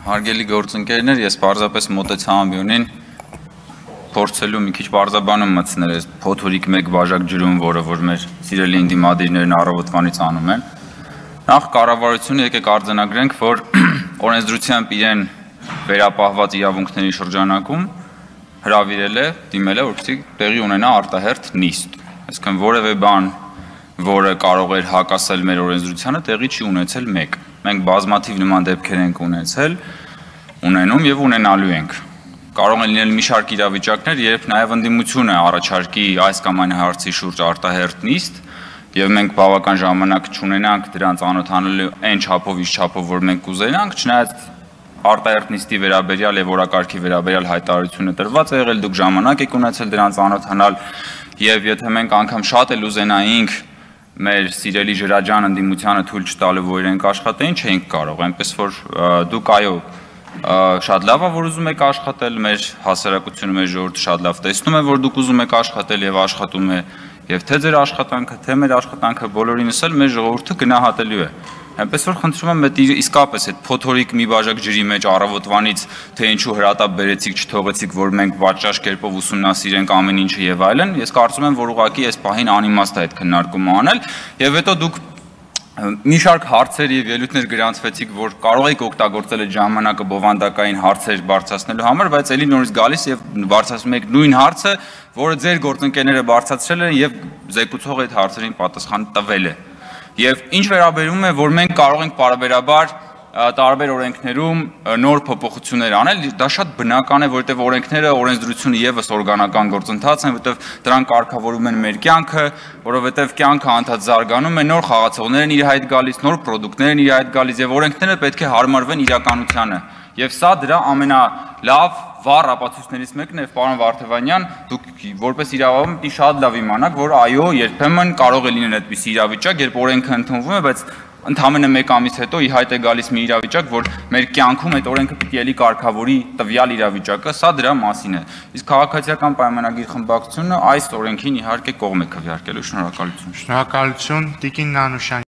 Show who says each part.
Speaker 1: Հարգելի գործընկերներ, ես պարզապես մոտեցա ամբիոնին փորձելու մի քիչ պարզաբանում մտցնել այս փոթորիկ մեկ բաժակ ջրում, որը որ մեր սիրելի ընդդիմադիրներն առավոտվանից անում են։ Նախ կառավարությունը եկեք արձանագրենք, որ օրենսդրությամբ իրեն վերապահված իրավունքների շրջանակում հրավիրել է, դիմել է, որպեսզի տեղի ունենա արտահերթ նիստ։ Այսինքն որևէ բան, որը կարող էր հակասել մեր օրենսդրությանը, տեղի չի ունեցել մեկ։ Մենք բազմաթիվ նման դեպքեր ենք ունենում եւ ունենալու ենք։ Կարող են լինել մի շարք իրավիճակներ, երբ նաեւ ընդդիմությունը առաջարկի այս կամ այն հարցի շուրջ արտահերթ նիստ, եւ մենք բավական ժամանակ չունենանք դրան ծանոթանալու այն չափով, ինչ չափով, որ մենք կուզենանք, չնայած արտահերթ նիստի վերաբերյալ եւ օրակարգի վերաբերյալ հայտարարությունը տրված է եղել, դուք ժամանակ եք ունեցել դրան ծանոթանալ, եւ եթե մենք անգամ շատ էլ ուզենայինք մեր սիրելի ջրաջան ընդդիմությանը թույլ չտալու, որ իրենք աշխատեին, չէինք կարող, այնպես որ դուք այո, շատ լավ է, որ ուզում եք աշխատել, մեր հասարակությունը, մեր ժողովուրդը շատ լավ տեսնում է, որ դուք ուզում եք աշխատել եւ աշխատում է, եւ թե ձեր աշխատանքը, թե մեր աշխատանքը բոլորինս էլ մեր ժողովուրդը գնահատելու է։ Այնպես որ խնդրում եմ, իսկապես այդ փոթորիկ մի բաժակ ջրի մեջ առավոտվանից թե ինչու հրատապ բերեցիք, չթողեցիք, որ մենք պատշաճ կերպով ուսումնասիրենք ամեն ինչը եւ այլն, ես կարծում եմ, որ ուղղակի այս պահին անիմաստ է այդ քննարկումը անել, եւ հետո դուք մի շարք հարցեր եւ ելույթներ գրանցվեցիք, որ կարող եք օգտագործել այդ ժամանակը բովանդակային հարցեր բարձրացնելու համար, բայց ելի նորից գալիս եւ բարձրացնում եք նույն հարցը, որը ձեր գործընկերները բարձրացրել են եւ զեկուցողը այդ հարցերին պատասխան տվել է։ Եվ ինչ վերաբերում է, որ մենք կարող ենք պարբերաբար տարբեր օրենքներում նոր փոփոխություններ անել, դա շատ բնական է, որովհետև օրենքները, օրենսդրությունը եւս օրգանական գործընթաց են, որովհետև դրանք կարգավորում են մեր կյանքը, որովհետև կյանքը անդադ զարգանում է, նոր խաղացողներ են իր հայտ գալիս, նոր պրոդուկտներ են իր հայտ գալիս եւ օրենքները պետք է հարմարվեն իրականությանը։ Եվ սա դրա ամենալավ վառ ապացույցներից մեկն է, պարոն Վարդևանյան, դուք որպես իրավաբան պիտի շատ լավ իմանաք, որ այո, երբեմն կարող է լինել այդպիսի իրավիճակ, երբ օրենքը ընդունվում է, բայց ընդամենը մեկ ամիս հետո ի հայտ է գալիս մի իրավիճակ, որ մեր կյանքում այդ օրենքը պիտի էլի կարգավորի տվյալ իրավիճակը, սա դրա մասին է։ Իսկ քաղաքացիական պայմանագիր խմբակցությունը այս օրենքին իհարկե կողմ է քվեարկելու։ Շնորհակալություն։
Speaker 2: Շնորհակալություն, Տիկին Նանուշյան։